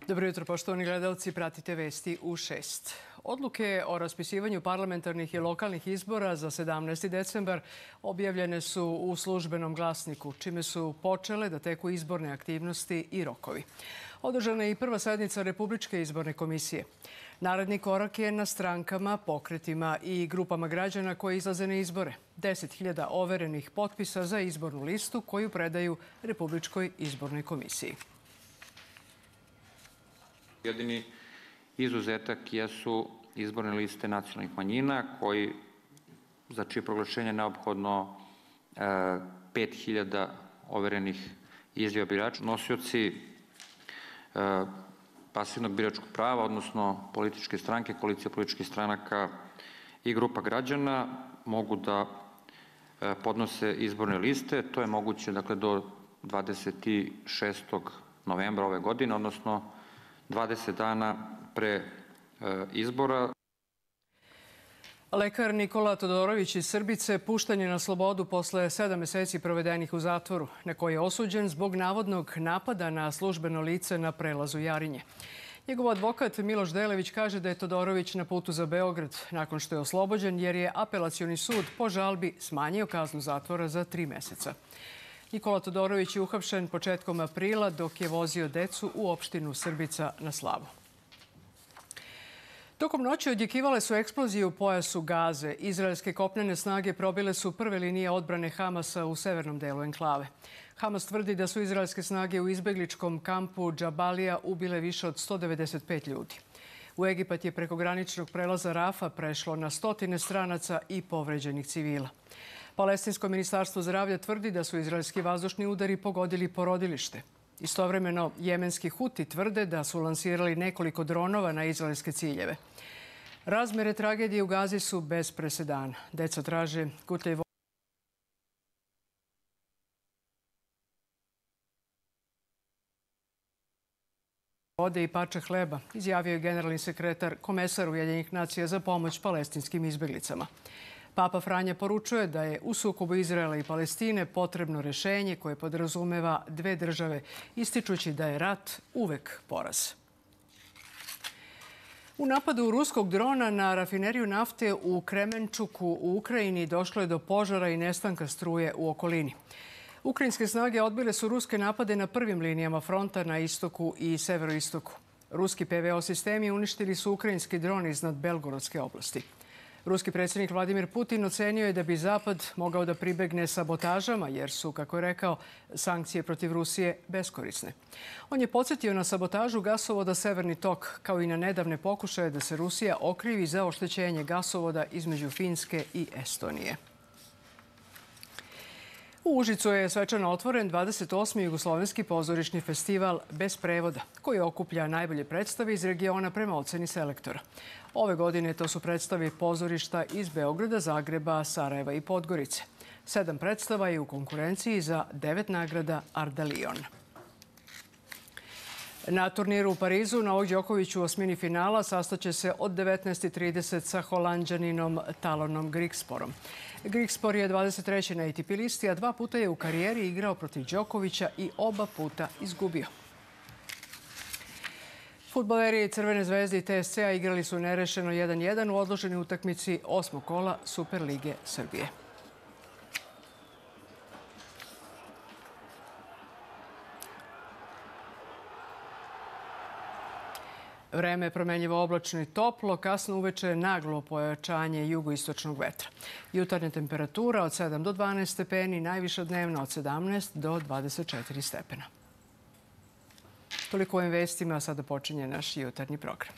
Dobro jutro, poštovani gledalci. Pratite vesti u 6. Odluke o raspisivanju parlamentarnih i lokalnih izbora za 17. decembar objavljene su u službenom glasniku, čime su počele da teku izborne aktivnosti i rokovi. Održana je i prva sednica Republičke izborne komisije. Naredni korak je na strankama, pokretima i grupama građana koji izlaze na izbore. 10.000 overenih potpisa za izbornu listu koju predaju Republičkoj izbornoj komisiji. Jedini izuzetak jesu izborne liste nacionalnih manjina, za čije proglašenje je neophodno 5.000 overenih izjava birača. Nosioci pasivnog biračkog prava, odnosno političke stranke, koalicija političkih stranaka i grupa građana mogu da podnose izborne liste. To je moguće do 26. novembra ove godine, odnosno 20 dana pre izbora. Lekar Nikola Todorović iz Srbice pušten je na slobodu posle 7 meseci provedenih u zatvoru, na koji je osuđen zbog navodnog napada na službeno lice na prelazu Jarinje. Njegov advokat Miloš Delević kaže da je Todorović na putu za Beograd nakon što je oslobođen jer je apelacioni sud po žalbi smanjio kaznu zatvora za 3 meseca. Nikola Todorović je uhapšen početkom aprila dok je vozio decu u opštinu Srbica na slavu. Tokom noći odjekivale su eksplozije u pojasu Gaze. Izraelske kopnene snage probile su prve linije odbrane Hamasa u severnom delu enklave. Hamas tvrdi da su izraelske snage u izbegličkom kampu Džabalija ubile više od 195 ljudi. U Egipat je preko graničnog prelaza Rafa prešlo na stotine stranaca i povređenih civila. Palestinsko ministarstvo zdravlja tvrdi da su izraelski vazdušni udari pogodili porodilište. Istovremeno, jemenski Huti tvrde da su lansirali nekoliko dronova na izraelske ciljeve. Razmere tragedije u Gazi su bez presedana. Deca traže gutljaj vode i parče hleba, izjavio je generalni sekretar komesar Ujedinjenih nacija za pomoć palestinskim izbeglicama. Papa Franja poručuje da je u sukobu Izraela i Palestine potrebno rešenje koje podrazumeva dve države, ističući da je rat uvek poraz. U napadu ruskog drona na rafineriju nafte u Kremenčuku u Ukrajini došlo je do požara i nestanka struje u okolini. Ukrajinske snage odbile su ruske napade na prvim linijama fronta na istoku i severoistoku. Ruski PVO sistemi uništili su ukrajinski dron iznad Belgorodske oblasti. Ruski predsjednik Vladimir Putin ocenio je da bi Zapad mogao da pribegne sabotažama jer su, kako je rekao, sankcije protiv Rusije beskorisne. On je podsjetio na sabotažu gasovoda Severni tok, kao i na nedavne pokušaje da se Rusija okrivi za oštećenje gasovoda između Finske i Estonije. U Užicu je svečano otvoren 28. jugoslovenski pozorišni festival bez prevoda, koji okuplja najbolje predstave iz regiona prema oceni selektora. Ove godine to su predstave pozorišta iz Beograda, Zagreba, Sarajeva i Podgorice. 7 predstava je u konkurenciji za 9 nagrada Ardalion. Na turniru u Parizu Novak Đoković u osmini finala sastaće se od 19:30 sa Holanđaninom Talonom Grigsporom. Grigspor je 23. na ATP listi, a 2 puta je u karijeri igrao protiv Đokovića i oba puta izgubio. Fudbaleri Crvene zvezde i TSC-a igrali su nerešeno 1:1 u odloženoj utakmici 8. kola Superlige Srbije. Vreme je promenljivo oblačno i toplo, kasno uveče naglo pojačanje jugoistočnog vetra. Jutarnja temperatura od 7 do 12 stepeni, najviša dnevna od 17 do 24 stepena. Toliko u ovim vestima, a sada počinje naš jutarnji program.